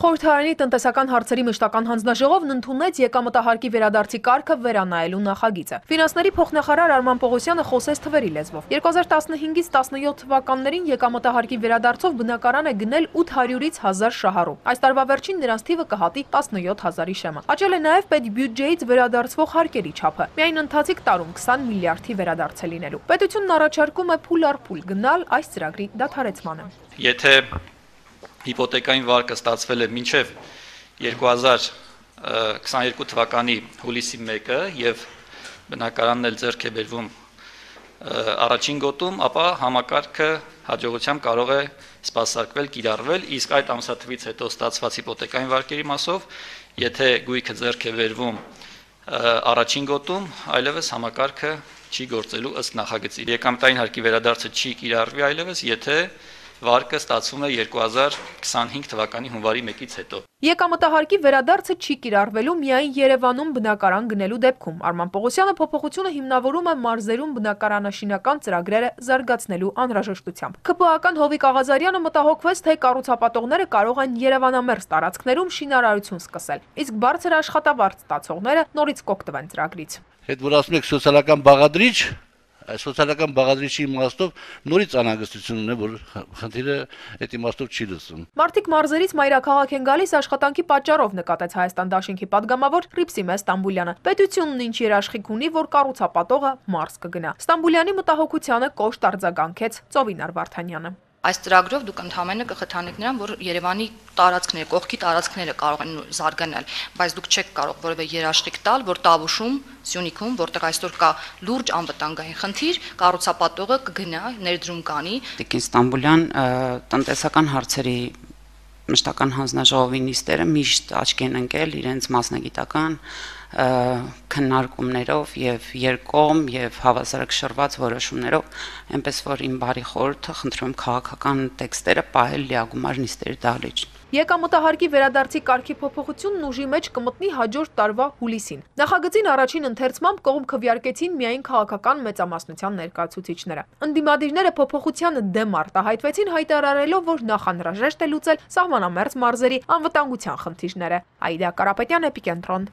Խորհրդարանի տնտեսական հարցերի մշտական հանձնաժողովն ընդունեց եկամտահարկի վերադարձի կարգը վերանայելու նախագիծը։ Ֆինանսների փոխնախարար Արման Պողոսյանը խոսեց թվերի լեզվով։ 2015-ից 17 թվականներին եկամտահարկի վերադարձով բնակարան է գնել 800-ից 1000 շահառու։ Այս տարվա վերջին նրանց թիվը կհատի 17000-ի շեմը։ Աճել է նաև պետբյուջեից վերադարձվող հարկերի չափը։ Միայն ընթացիկ տարում 20 միլիարդի վերադարձ է լինելու։ Պետությունն առաջարկում է փուլ առ փուլ գնալ այս ծրագրի դադարեցմանը։ Եթե հիպոթեկային վարկը ստացվել է մինչև 2022 թվականի հուլիսի 1-ը եւ բնակարանն էլ ձեռք է բերվում առաջին գոտում, ապա համակարգը հաջողությամբ կարող է սպասարկվել, կիրառվել, իսկ այդ ամսաթվից հետո ստացված հիպոթեկային վարկերի մասով, եթե գույքը ձեռք է բերվում առաջին գոտում, այլևս համակարգը չի գործելու ըստ նախագծի։ Եկամտային հարկի վերադարձը չի կիրառվի այլևս, եթե վարկը ստացվում է 2025 թվականի հունվարի 1-ից հետո։ Եկամտահարկի վերադարձը չի կիրառվելու միայն Երևանում բնակարան գնելու դեպքում։ Արման Պողոսյանը փոփոխությունը հիմնավորում է մարզերում բնակարանաշինական ծրագրերը զարգացնելու անհրաժեշտությամբ։ ՔՊԱ-ական Հովիկ Աղազարյանը մտահոգվեց, թե կառուցապատողները կարող են երևանամերձ տարածքներում շինարարություն սկսել, իսկ բարձր աշխատավարձ ստացողները նորից կօգտվեն ծրագրից։ Հետ որ ասում եք սոցիալական բաղադրիչ, այս սոցիալական բաղադրիչի իմաստով նորից անհանգստություն ունի, որ խնդիրը այդ իմաստով չի լուծվում։ Մարդիկ մարզերից մայրաքաղաք են գալիս աշխատանքի պատճառով, նկատեց Հայաստան դաշինքի падգամավոր Ռիփսիմե Ստամբուլյանը։ Պետությունն ինչ երաշխիք ունի, որ կառուցապատողը մարզ կգնա։ Ստամբուլյանի մտահոգությանը կոշտ արձագանքեց Ծովինար Վարդանյանը։ Այս ծրագրով դուք ընդհանրապես կխթանեք նրան, որ Երևանի տարածքները, կողքի տարածքները կարող են զարգանալ, բայց դուք չեք կարող որևէ երաշխիք տալ, որ Տավուշում, Սյունիքում, որտեղ այսօր կա լուրջ անվտանգային խնդիր, կառուցապատողը կգնա, ներդրում կանի։ Տիկին Ստամբուլյան տնտեսական հարցերի մշտական հանձնաժողովի նիստերը միշտ աչքի են ընկել իրենց մասնագիտական քննարկումներով եւ երկկողմ եւ հավասարակշռված որոշումներով, այնպես որ իմ բարի խորհուրդը խնդրում եմ քաղաքական տեքստերը պահել լիագումար նիստերի դահլիճ։ Եկամտահարկի վերադարձի կարգի փոփոխությունն ուժի մեջ կմտնի հաջորդ տարվա հուլիսին։ Նախագծին առաջին ընթերցմամբ կողմ քվեարկեցին միայն քաղաքական մեծամասնության ներկայացուցիչները։ Ընդդիմադիրները փոփոխությանը դեմ արտահայտվեցին, հայտարարելով, որ նախանհրաժեշտ է լուծել սահմանամերձ մարզերի անվտանգության խնդիրները։ Աիդա Կարապետյան, Էպիկենտրոն։